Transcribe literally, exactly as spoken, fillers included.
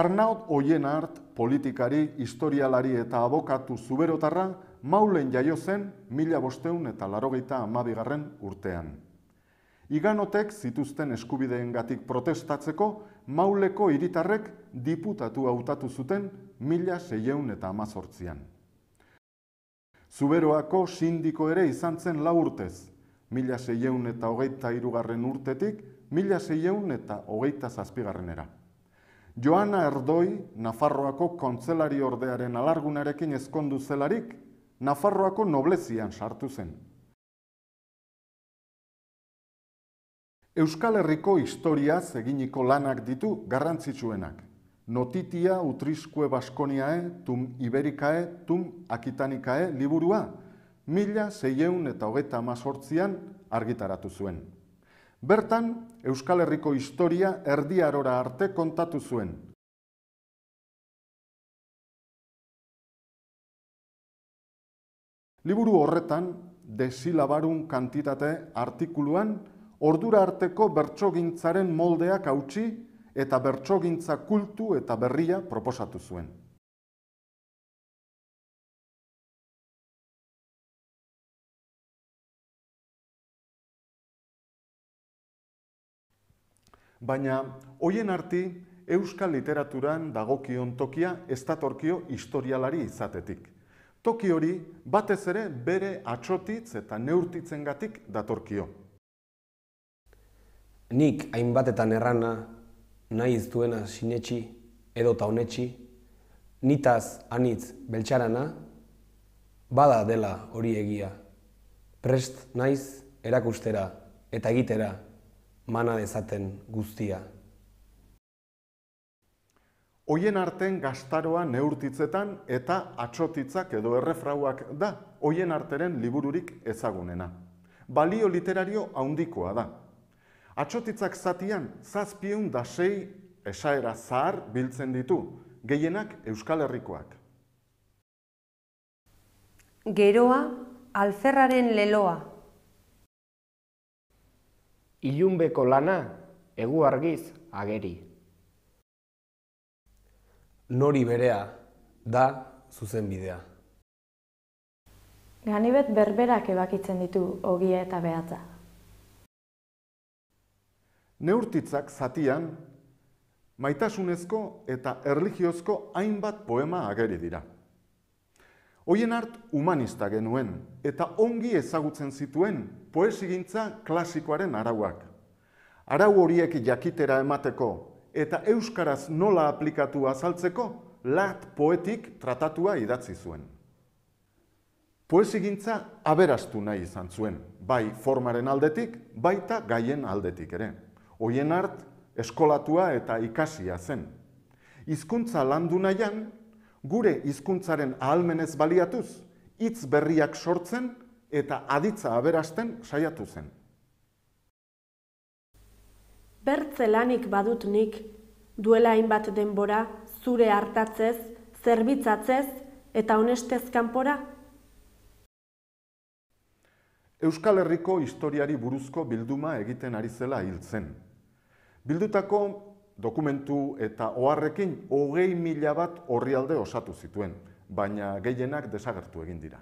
Arnaut Oienart, politikari, historialari eta abokatu zuberotarra, Maulen jaio zen mila bostehun eta laurogeita hamabigarren urtean. Iganotek zituzten eskubideengatik protestatzeko, Mauleko hiritarrek diputatu hautatu zuten mila seiehun eta hamazortzian. Zuberoako sindiko ere izan zen lau urtez, mila seiehun eta hogeita hirugarren urtetik mila seiehun eta hogeita zazpigarrenera. Joana Erdoi, Nafarroako kontzelari ordearen alargunarekin ezkondu zelarik, Nafarroako noblezian sartu zen. Euskal Herriko historiaz eginiko lanak ditu garrantzitsuenak. Notitia Utriskue Baskoniae, tum Iberikae, tum Akitanikae liburua, mila seiehun eta hogeita hamazortzian argitaratu zuen. Bertan, Euskal Herriko historia Erdi Arora arte kontatu zuen. Liburu horretan, desilabarun kantitate artikuluan, ordura arteko bertsogintzaren moldeak hautsi eta bertsogintza kultu eta berria proposatu zuen. Baina, Oienarti, euskal literaturan dagokion tokia ez datorkio historialari izatetik. Toki hori batez ere bere atsotitz eta neurtitzengatik datorkio. Nik hainbatetan errana, nahi ez duena sinetxi edota honetxi, nitaz anitz beltxarana, bada dela hori egia. Prest naiz erakustera eta egitera mana dezaten guztia. Oienarten gaztaroa neurtitzetan eta atsotitzak edo errefrauak da Oienarteren libururik ezagunena. Balio literario handikoa da. Atsotitzak zatian zazpiehun da sei esaera zahar biltzen ditu, gehienak Euskal Herrikoak. Geroa, alferraren leloa. Ilunbeko lana, egu argiz ageri. Nori berea da zuzenbidea. Ganibet berberak ebakitzen ditu ogia eta behatza. Neurtitzak zatian, maitasunezko eta erlijiozko hainbat poema ageri dira. Oienart humanista genuen eta ongi ezagutzen zituen poesigintza klasikoaren arauak. Arau horiek jakitera emateko eta euskaraz nola aplikatu azaltzeko lat poetik tratatua idatzi zuen. Poesigintza aberastu nahi izan zuen, bai formaren aldetik, baita gaien aldetik ere. Oienart eskolatua eta ikasia zen. Hizkuntza landu nahian, gure hizkuntzaren ahalmenez baliatuz, hitz berriak sortzen eta aditza aberasten saiatu zen. Bertze lanik badut nik, duela hainbat denbora, zure hartatzez, zerbitzatzez eta honestez kanpora? Euskal Herriko historiari buruzko bilduma egiten ari zela hil zen. Bildutako dokumentu eta oharrekin hogei mila bat orrialde osatu zituen, baina gehienak desagertu egin dira.